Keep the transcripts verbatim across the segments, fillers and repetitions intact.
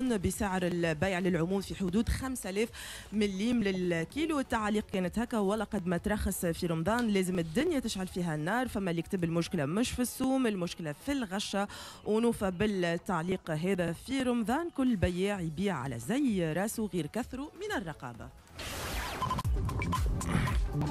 طن بسعر البيع للعموم في حدود خمسة آلاف مليم للكيلو. التعاليق كانت هكا: ولقد ما ترخص في رمضان لازم الدنيا تشعل فيها النار. فما اللي كتب المشكلة مش في السوم، المشكلة في الغشه. ونوفى بالتعليق هذا: في رمضان كل بياع يبيع على زي راسه غير كثرة من الرقابة.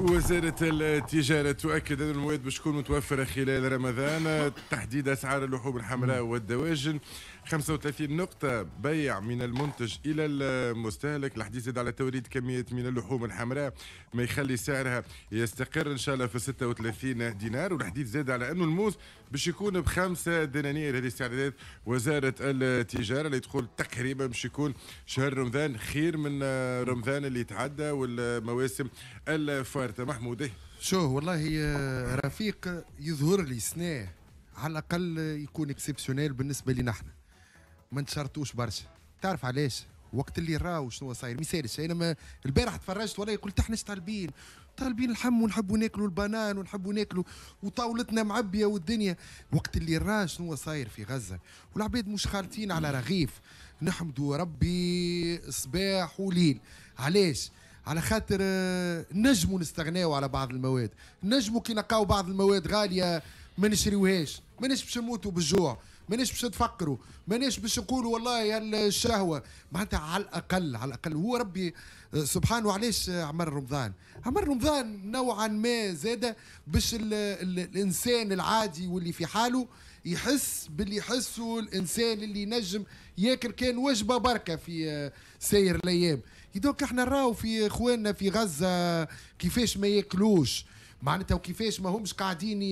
وزارة التجارة تؤكد أن المواد باش تكون متوفرة خلال رمضان، تحديد أسعار اللحوم الحمراء والدواجن، خمسة وثلاثين نقطة بيع من المنتج إلى المستهلك. الحديث زاد على توريد كميات من اللحوم الحمراء ما يخلي سعرها يستقر إن شاء الله في ستة وثلاثين دينار. والحديث زاد على أنه الموز باش يكون بخمسة دنانير. هذه استعدادات وزارة التجارة اللي تقول تقريبا باش يكون شهر رمضان خير من رمضان اللي تعدى والمواسم الفارطة. محمود شو والله رفيق يظهر لي سنة على الأقل يكون exceptionnel بالنسبة لنا احنا، ما نتشرطوش برشا. تعرف علاش؟ وقت اللي راو شنو صاير ما يسالش. انا ما البارح تفرجت والله قلت احنا طالبين طالبين اللحم ونحبوا ناكلوا البنان ونحبوا ناكلوا وطاولتنا معبيه والدنيا. وقت اللي راه شنو صاير في غزة والعباد مش خالطين على رغيف، نحمدوا ربي صباح وليل. علاش؟ على خاطر نجموا نستغناو على بعض المواد، نجموا كي نلقاو بعض المواد غالية ما نشريوهاش، ماناش باش نموتوا بالجوع، ماناش باش نتفقروا، ماناش باش نقولوا والله الشهوة. معناتها على الاقل على الاقل هو ربي سبحانه علاش عمل رمضان؟ عمل رمضان نوعا ما زاد باش ال ال الانسان العادي واللي في حاله يحس باللي يحسه الانسان اللي نجم ياكل كان وجبة بركة في سير الايام. donc احنا نراو في اخواننا في غزة كيفاش ما ياكلوش معناتها، وكيفاش ما همش قاعدين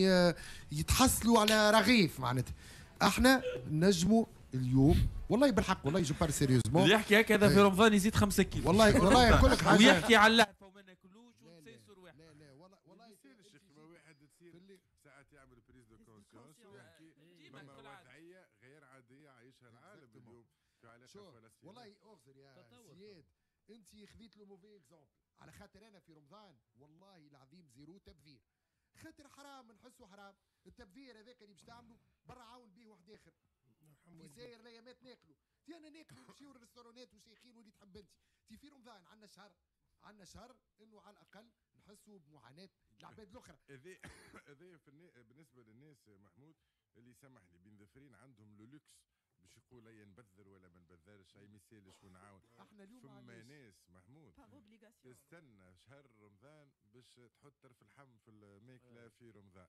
يتحصلوا على رغيف. معناتها احنا نجموا اليوم والله بالحق، والله je parle sérieusement، اللي يحكي هكذا في رمضان يزيد خمسة كيلو والله والله نقول لك حاجة، ويحكي على اللهفه وما ناكلوش ونسيسوا رواحنا. لا لا والله والله يصيرش واحد تصير ساعات يعمل prise de conscience ويحكي فما وضعية غير عادية عايشها العالم اليوم في علاقة فلسطين. والله اغزر يا سياد، انت خذيت le mauvais exemple. على خاطر انا في رمضان والله العظيم zéro تبذير، خاطر حرام نحسه حرام التبذير هذاك اللي باش تعمله برا عاون به واحد اخر في ساير الايامات ناكلوا. تي انا ناكلوا نمشيو للريستورونات وشيخين واللي تحب انت. تي في رمضان عندنا شهر، عندنا شهر انه على الاقل نحسوا بمعاناة العباد الاخرى. هذا هذا بالنسبة للناس محمود اللي سمح لي بين ذفرين عندهم le luxe باش يقول اي نبذر ولا ما نبذرش، اي ما يسالش ونعاون. احنا اليوم فما ناس محمود تستنى شهر رمضان باش تحط طرف اللحم في الماكلة في رمضان،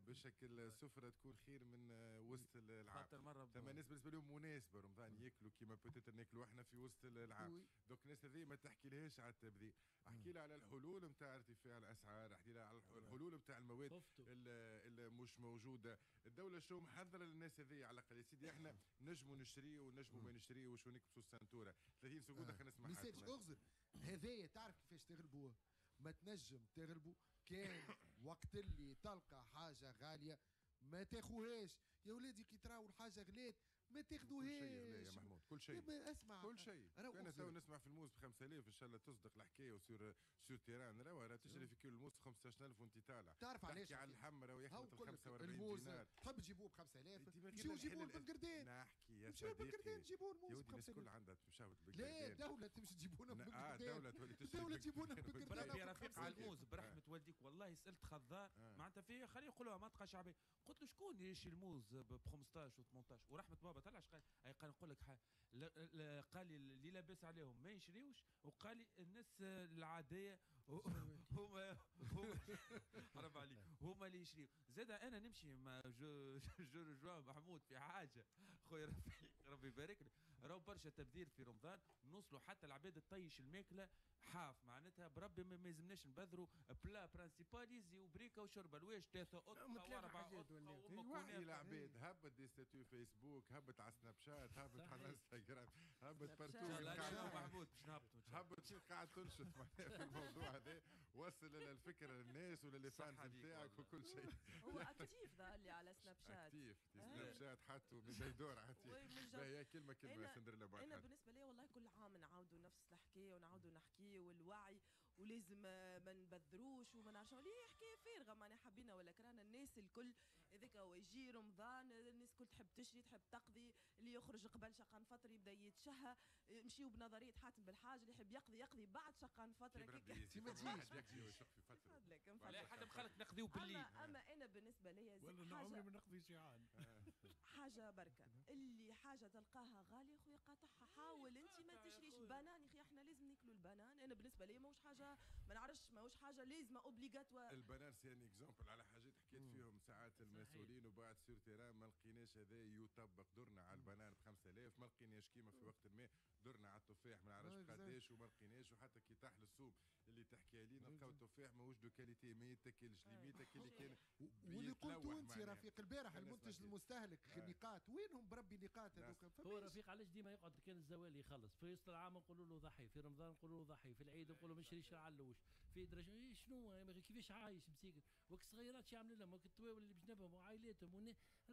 باش السفرة تكون خير من وسط العام. ثم ناس بالنسبة لهم مناسبة رمضان ياكلوا كيما peut-être ناكلوا احنا في وسط العام. donc الناس هذه ما تحكي لهاش على التبذير، احكي لها على الحلول نتاع ارتفاع الاسعار، احكي لها على الحلول نتاع المواد اللي مش موجودة. الدولة شو محضرة للناس هذه على الاقل يا سيدي احنا نجموا نشري ونجموا ما نشريوش ونكبسوا السنتوره ثلاثين secondes. خلينا نسمع. ما يصيرش اغزر هذايا، تعرف كيفاش تغلبوه؟ ما تنجم تغلبوا كان وقت اللي تلقى حاجة غالية ما تاخوهاش يا ولادي. كي تراو الحاجة غلات ما تاخذوهاش. كل شيء غلا يا محمود، كل شيء. اسمع كل شيء. انا تو نسمع في الموز ب خمسة آلاف ان شاء الله تصدق الحكاية و sur sur terrain راهو راه تشري في كيلو الموز خمسطاش ألف وانت طالع. تعرف علاش؟ تحكي على اللحم راهو يخلط ال خمسة وأربعين دينار. تحب تجيبوه ب خمسة آلاف؟ مشيو جيبوه بالقردان. نحكي يا صديقي، جيبوه الموز ب خمسة آلاف. الناس الكل عندها تشاوت بالقردان. لا الدولة تمشي تجيبونا بالقردان. اه الدولة تولي تشري، الدولة تجيبونا بالقردان. بربي رفيق على الموز برحمة والديك، والله سالت خضار معناتها فيه خليه يقولوها منطقة شعبية، قلت له شكون يشري الموز ب خمسطاش و ثمنطاش؟ ورحمة بابا طلع قال قال نقول لك قال لي اللي لاباس عليهم ما يشريوش، وقال لي الناس العادية هما هما حرام عليك هما اللي يشريو. زاد انا نمشي مع je je rejoins محمود في حاجة خويا رفيق ربي يبارك لك، راهو برشا تبذير في رمضان، نوصلوا حتى العباد تطيش الماكلة حاف معناتها بربي ما يلزمناش نبذروا plat principal يزي وبريكه وشربه الواش ثلاثة اطقه واربعة اطقه. وعي العباد، هبط des statuts فيسبوك، هبط على سناب شات، هبط على انستغرام، هبط partout. محمود باش نهبطوا، هبط شوف قاعد تنشط في الموضوع هذا، وصل الفكرة للناس ولل fans نتاعك وكل شيء. هو actif ظهر لي على سناب شات، actif سناب شات حطوا من يدور actif. هي كلمة كلمة سندريلا بعد. انا بالنسبة لي والله كل عام نعاودوا نفس الحكاية ونعاودوا نحكي والوعي ولازم ما نبذروش وما نعرفش ليه حكاية فارغة معناها حبينا ولا كرهنا الناس الكل هذاك هو يجي رمضان الناس الكل تحب تشري تحب تقضي، اللي يخرج قبل شقان فترة يبدا يتشهى، نمشيو بنظرية حاتم بالحاج اللي يحب يقضي يقضي بعد شقان فترة. ما تجيش لا حد خلك نقضيو بالليل. اما, أما انا بالنسبة ليا والله عمري ما نقضي جيعان. حاجة بركة اللي حاجة تلقاها غالية خويا قاطعها، حاول انت ما تشريش بنان يا اخي، احنا لازم ناكلوا البنان. انا بالنسبة لي ماهوش حاجة ما نعرفش ماهوش حاجة لازمه obligatoire. البنان c'est un exemple على حاجات حكيت فيهم ساعات المسؤولين وبعد sur terrain ما لقيناش هذا يطبق. درنا على البنان ب خمسة آلاف ما لقيناش كيما في وقت ما، درنا على التفاح ما نعرفش قداش وما لقيناش، وحتى كي طاح للسوق اللي تحكي عليه نلقاو التفاح ماهوش de qualité، ما يتاكلش limite اللي كان. واللي قلتو انت رفيق البارح المنتج المستهلك النقاط وينهم بربي النقاط هذوك؟ هو رفيق علاش ديما يقعد كان الزوالي يخلص في وسط العام نقولوا له ضحي، في رمضان نقولوا له ضحي، في العيد نقولوا ما نشريش العلوش، في درجه شنو كيفاش عايش مسيكن، وك الصغيرات شو يعمل لهم، وك التواول اللي بجنبهم وعائلاتهم،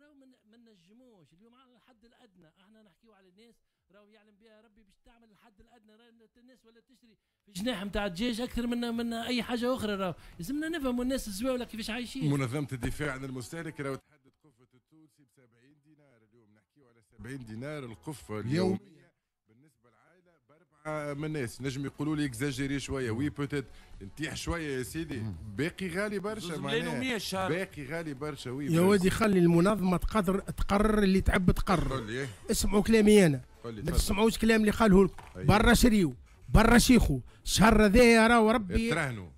راهو ما نجموش اليوم على الحد الادنى. احنا نحكيو على الناس راهو يعلم بها ربي باش تعمل الحد الادنى، راهو الناس ولا تشري في جناح نتاع الدجاج اكثر من من اي حاجة اخرى. راهو لازمنا نفهموا الناس الزواوله كيفاش عايشين. منظمة الدفاع عن المستهلك راهو تحدد قفة التونسي ب سبعين دينار اليوم، نحكيو على سبعين دينار القفه اليومية بالنسبة للعائلة باربعة من الناس. نجم يقولوا لي exagéré شوية، oui peut-être نتيح شوية يا سيدي، باقي غالي برشا معناها، باقي غالي برشا. oui يا ودي خلي المنظمة تقدر تقرر اللي تحب تقرر. اسمعوا كلامي انا، ما تسمعوش كلام اللي قاله لكم. برا شريو برا شيخو الشهر هذايا راهو ربي تراهنوا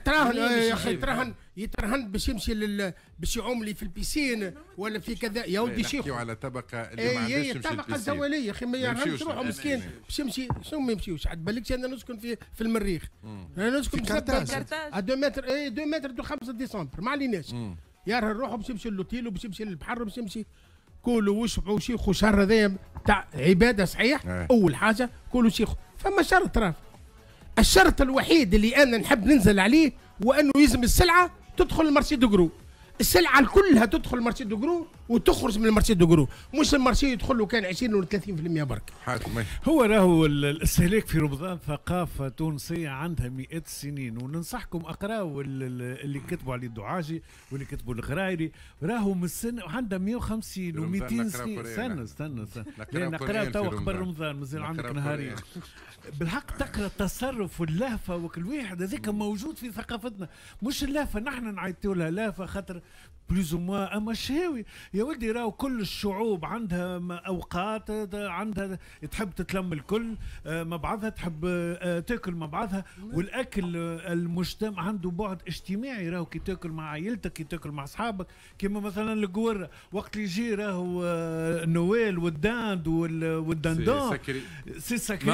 تراهن يا اخي، تراهن يترهن باش يمشي لل باش يعوم لي في ال piscine ولا في كذا. يا ودي شيخو نحكيو على طبقه اللي ما عندهاش تمشي الطبقة الزواليه يا اخي ما يرهنش روحه مسكين باش يمشي. شنو ما يمشيوش؟ عاد بالكش انا نسكن في في المريخ، انا نسكن في كرتاج deux mètres اي deux mètres de خمسة ديسمبر ما عليناش. يرهن روحه باش يمشي للوتيل وباش يمشي للبحر وباش يمشي. كولوا واشبعوا شيخو شهر هذايا تاع عباده صحيح. اه. اول حاجة كولوا شيخو. فما شرط راه، الشرط الوحيد اللي انا نحب ننزل عليه هو انه يلزم السلعة تدخل ال marché de gros، السلعة كلها تدخل ال marché de gros وتخرج من ال marché de gros، مش ال marché يدخل له كان عشرين ولا ثلاثين بالمية برك. هو راهو الاستهلاك في رمضان ثقافة تونسية عندها مئات السنين، وننصحكم اقراوا اللي كتبوا عليه الدعاجي واللي كتبوا الغرايري، راهو من السنة عندها مئة وخمسين ومئتين سنة. استنى استنى استنى نقراو توا قبل رمضان مازال عندك نهارين. بالحق تقرا التصرف واللهفه وكل واحد هذاك موجود في ثقافتنا، مش اللهفه نحن نعيطوا لها لهفة خاطر plus ou moins، اما الشهاوي يا ولدي راهو كل الشعوب عندها اوقات، عندها تحب تتلم الكل مع بعضها، تحب تاكل مع بعضها، والاكل المجتمع عنده بعد اجتماعي. راهو كي تاكل مع عائلتك، كي تاكل مع اصحابك، كيما مثلا القوره وقت اللي يجي راهو النوال وال dinde وال dindon c'est sacré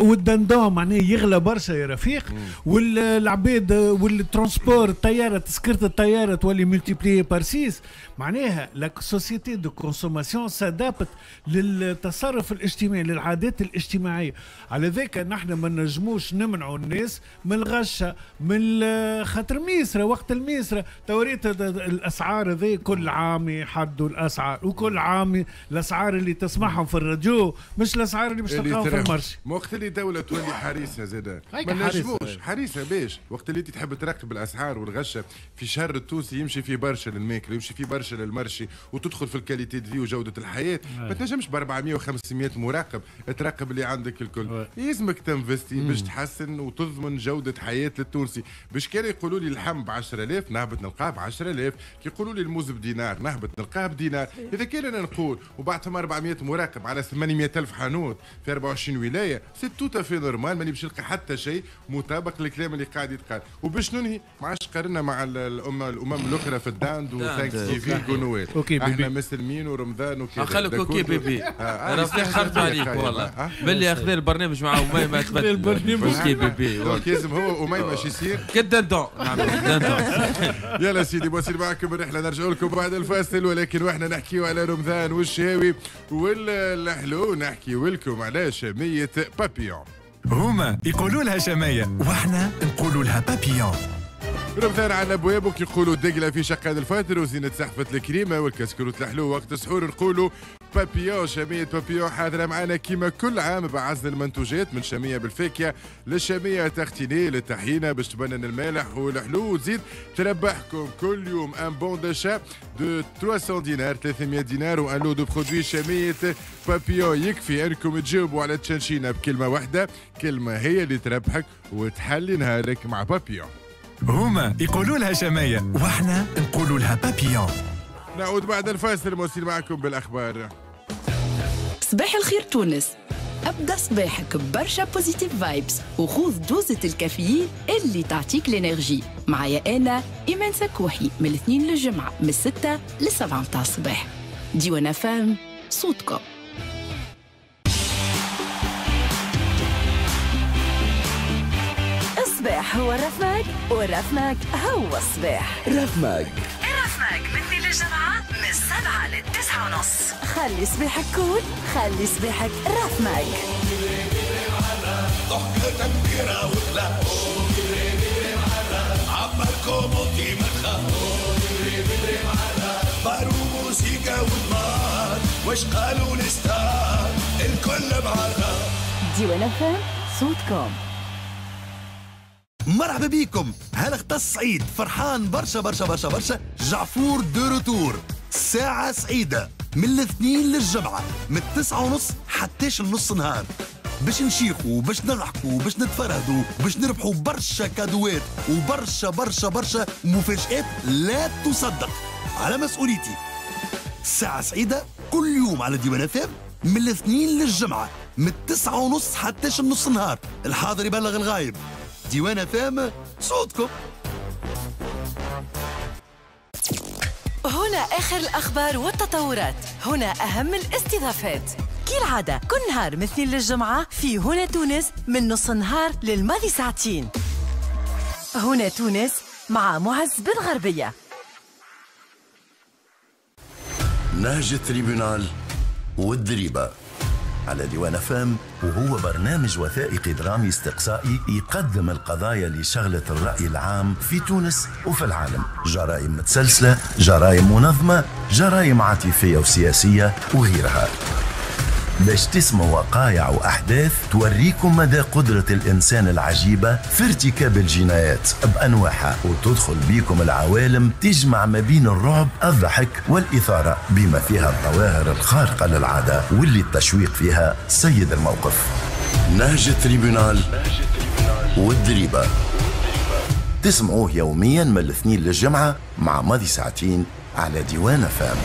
وال dindon معناه يغلى برشا يا رفيق، والعباد وال transport الطيارة تسكرت الطيارة تولي multipliée par six. معناها la société de consommation s'adapte للتصرف الاجتماعي، للعادات الاجتماعية. على ذاك نحن ما نجموش نمنعوا الناس من الغشه، من خاطر ميسرة وقت الميسره توريت الاسعار هذي كل عام يحدوا الاسعار، وكل عام الاسعار اللي تسمعهم في الراديو مش الاسعار اللي باش تلقاهم في ال marché. وقت اللي الدولة تولي حريصة زاده ما نجموش حريصة باش وقت اللي انت تحب تراقب الاسعار والغشه في شهر التونسي يمشي فيه برشا للماكله، يمشي فيه برشا لل marché، وتدخل في ال qualité de vie وجوده الحياة. ما تنجمش ب أربعمية وخمسمية مراقب تراقب اللي عندك الكل. يلزمك ت investi باش تحسن وتضمن جوده حياة للتونسي. باش كان يقولوا لي اللحم ب عشرة آلاف نهبط نلقاه ب عشرة آلاف، كي يقولوا لي الموز بدينار نهبط نلقاه بدينار. اذا كان انا نقول وبعد ثم أربعمية مراقب على ثمانمية ألف حانوت في أربعة وعشرين ولاية، c'est tout à fait normal، ماني باش نلقى حتى شيء مطابق للكلام اللي قاعد يتقال. وباش ننهي ما عادش قارنا مع الأمم الأمم الأخرى في ال dinde و Thanksgiving و Noël. احنا مسلمين ورمضان وكذا. خليك OK bébé، رفيق خرت عليك والله باللي اخذ البرنامج مع أميمة تبدل البرنامج. OK bébé، donc لازم هو أميمة شو يصير؟ كال dindon نعمل dindon. يلا سيدي بوصل معكم الرحلة، نرجع لكم بعد الفاصل، ولكن واحنا نحكيو على رمضان والشهاوي والحلو، نحكيو لكم على شمية بابيون. هما يقولوا لها شمية واحنا نقولوا لها بابيون. رمضان على ابواب وكي يقولوا الدقله في شقان الفاتر وزينة سحفة الكريمة والكسكروت الحلو وقت السحور نقولوا بابيون. شامية بابيون حاضرة معنا كيما كل عام بعزل المنتوجات من شامية بالفاكهة للشامية tartinée للطحينة باش تبنن المالح والحلو، وتزيد تربحكم كل يوم un bon d'achat de ثلاثمية دينار، ثلاثمية دينار و un lot de produits شامية بابيون. يكفي انكم تجاوبوا على تشنشينة بكلمة واحدة، كلمة هي اللي تربحك وتحلي نهارك مع بابيون. هما يقولوا لها شماية واحنا نقولوا لها بابيون. نعود بعد الفاصل موصل معكم بالأخبار. صباح الخير تونس، أبدأ صباحك ببرشا positive vibes وخوذ دوزة الكافيين اللي تعطيك l'énergie. معايا أنا إيمان سكوحي من الاثنين للجمعة من الستة للسبعة متاع الصباح. ديوان فام صوتكم. الصباح هو الرفماك والرفماك هو الصباح. رفماك الرفماك من اثنين للجمعة من السبعة للتسعة ونص. خلي صباحك cool، خلي صباحك رفماك. ضحكة كبيرة وغلا عبركم وطي ما تخافوا بارو موسيقى ونار واش قالوا ال stars الكل معرة. ديوان فام صوتكم. مرحبا بيكم. هل اختص سعيد فرحان برشا برشا برشا برشا. جعفور de retour، ساعة سعيدة من الاثنين للجمعة من التسعة ونص حتىش النص نهار، باش نشيخوا باش نضحكوا باش نتفرهدوا باش نربحوا برشا كادوات وبرشا برشا برشا مفاجآت لا تصدق. على مسؤوليتي ساعة سعيدة كل يوم على ديوان فام من الاثنين للجمعة من التسعة ونص حتىش النص نهار. الحاضر يبلغ الغايب. ديوان فام صوتكم. هنا آخر الأخبار والتطورات، هنا أهم الاستضافات كالعادة كل نهار من اثنين للجمعة في هنا تونس من نص النهار للماضي ساعتين. هنا تونس مع معز بن غربية. نهج ال tribunal والدريبة على ديوان فام، وهو برنامج وثائقي درامي استقصائي يقدم القضايا اللي شغلت الرأي العام في تونس وفي العالم. جرائم متسلسلة، جرائم منظمة، جرائم عاطفية وسياسية وغيرها، باش تسمعوا وقايع وأحداث توريكم مدى قدرة الإنسان العجيبة في ارتكاب الجنايات بأنواعها، وتدخل بيكم العوالم تجمع ما بين الرعب، الضحك والإثارة، بما فيها الظواهر الخارقة للعادة واللي التشويق فيها سيد الموقف. نهج ال tribunal والدريبة تسمعوه يوميا من الاثنين للجمعة مع ماضي ساعتين على ديوان فام.